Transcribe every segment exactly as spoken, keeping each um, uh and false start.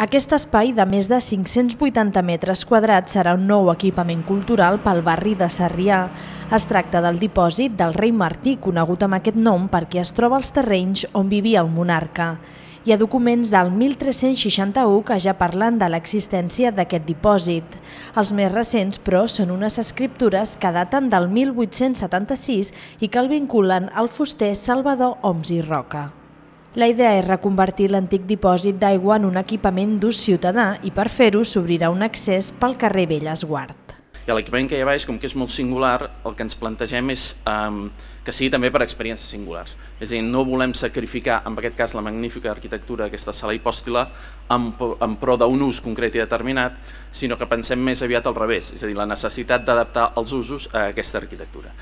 Aquest espai de més de cinc-cents vuitanta metres quadrats serà un nou equipament cultural pel barri de Sarrià. Es tracta del dipòsit del rei Martí, conegut amb aquest nom perquè es troba als terrenys on vivia el monarca. Hi ha documents del mil tres-cents seixanta-u que ja parlen de l'existència d'aquest dipòsit. Els més recents, però, són unes escriptures que daten del mil vuit-cents setanta-sis i que el vinculen al fuster Salvador Homs i Roca. La idea és reconvertir l'antic dipòsit d'aigua en un equipament d'ús ciutadà i per fer-ho s'obrirà un accés pel carrer Bellesguard. I l'equipament que hi ha baix, com que és molt singular, el que ens plantegem és um, que sigui també per experiències singulars. És a dir, no volem sacrificar, en aquest cas, la magnífica arquitectura d'aquesta sala hipòstila en, en pro d'un ús concret i determinat, sinó que pensem més aviat al revés, és a dir, la necessitat d'adaptar els usos a aquesta arquitectura.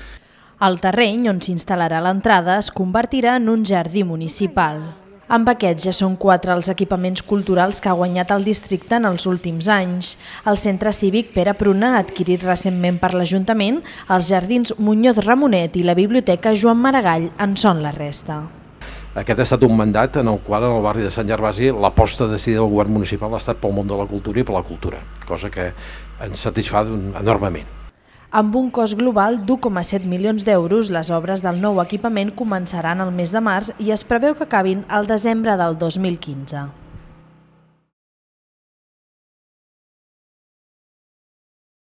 El terreny on s'instal·larà l'entrada es convertirà en un jardí municipal. Amb aquests ja són quatre els equipaments culturals que ha guanyat el districte en els últims anys. El Centre Cívic Pere Pruna, adquirit recentment per l'Ajuntament, els Jardins Muñoz Ramonet i la Biblioteca Joan Maragall en són la resta. Aquest ha estat un mandat en el qual en el barri de Sant Gervasi l'aposta decidida del govern municipal ha estat pel món de la cultura i per la cultura, cosa que ens satisfà enormement. Amb un cost global d'u coma set milions d'euros, les obres del nou equipament començaran el mes de març i es preveu que acabin al desembre del dos mil quinze.